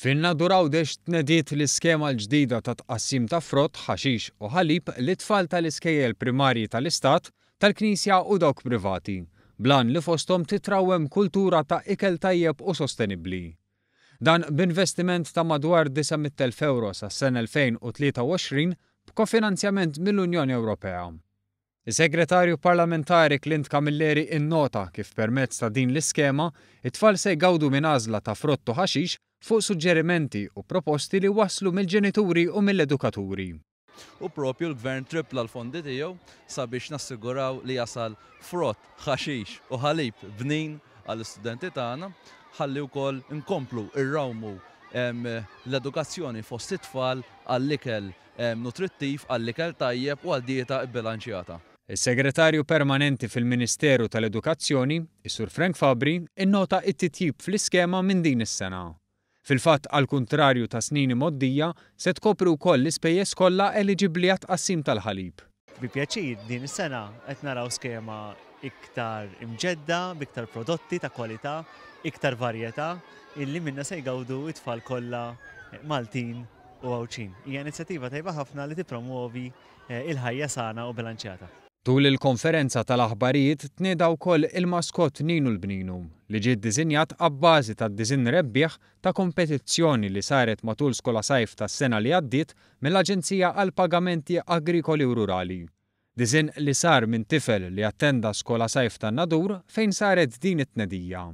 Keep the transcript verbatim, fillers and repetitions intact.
Fin-Nadur Għawdex tnediet l-iskema l-ġdida ta' tqassim ta' frott, ħaxix u ħalib lit-tfal tal-iskejjel primarji tal-Istat, tal-Knisja u dawk privati, bl-għan li fosthom titrawwem kultura ta' ikel tajjeb u sostenibbli. Dan b'investiment ta' madwar disa' mitt elf ewro sas-sena elfejn u tlieta u għoxrin b'kofinanzjament mill-Unjoni Ewropea. Is-Segretarju Parlamentari Clint Camilleri innota kif permezz ta' din l-iskema, it-tfal se jgawdu minn għażla ta' frott u ħaxix fuq suġġerimenti u proposti li waslu mill-ġenituri u mill-edukaturi. U propju l-gvern tripla l-fondi tiegħu sabiex nassiguraw li jasal frott, ħaxix u ħalib bnin għall-istudenti tagħna, ħalli wkoll nkomplu irrawmu, em, l-edukazzjoni fost it-tfal għall-ikel, em, nutrittiv, għall-ikel tajjeb u għal dieta bbilanċjata. Is-Segretarju Permanenti fil-Ministeru tal-Edukazzjoni, is-Sur Frank Fabri, innota it-titjib fl-iskema minn din is-sena. Fil-fatt, għal kuntrarju ta' snin imgħoddija, se tkopri wkoll l-ispejjeż kollha eliġibbli għat-tqassim tal-ħalib. Bi pjaċir din is-sena qed naraw skema iktar imġedda, b'iktar prodotti ta' kwalità, iktar varjetà, illi minna se jgawdu it-tfal kollha Maltin u Għawdxin. Hija inizjattiva tajba ħafna li tippromuovi, eh, il-ħajja sana u bilanċjata. Tul il-konferenza tal-aħbarijiet tnieda wkoll il-maskot Ninu l-Bninu, li ġie ddisinjat abbażi tad-diżinn rebbieħ ta' kompetizzjoni li saret matul Skola Sajf tas-sena li għaddiet mill-Aġenzija għal Pagamenti Agrikoli u Rurali. Diżinn li sar minn tifel li attenda Skola Sajf tan-Nadur fejn saret din it-tnedija.